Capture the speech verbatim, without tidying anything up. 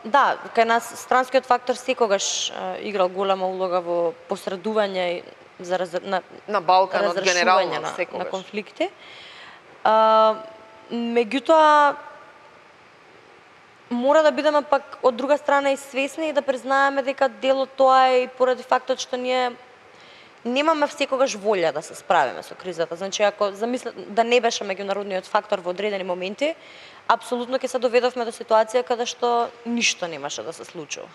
Да, кај нас странскиот фактор секогаш играл голема улога во посредување за раз... на на Балканот генерално на, секогаш на конфликти. А, меѓутоа мора да бидеме пак од друга страна и свесни и да признаеме дека дел од тоа е и поради фактот што ние немаме секогаш волја да се справиме со кризата. Значи, ако замисля да не беше меѓународниот фактор во одредени моменти, апсолутно ќе се доведовме до ситуација каде што ништо немаше да се случува.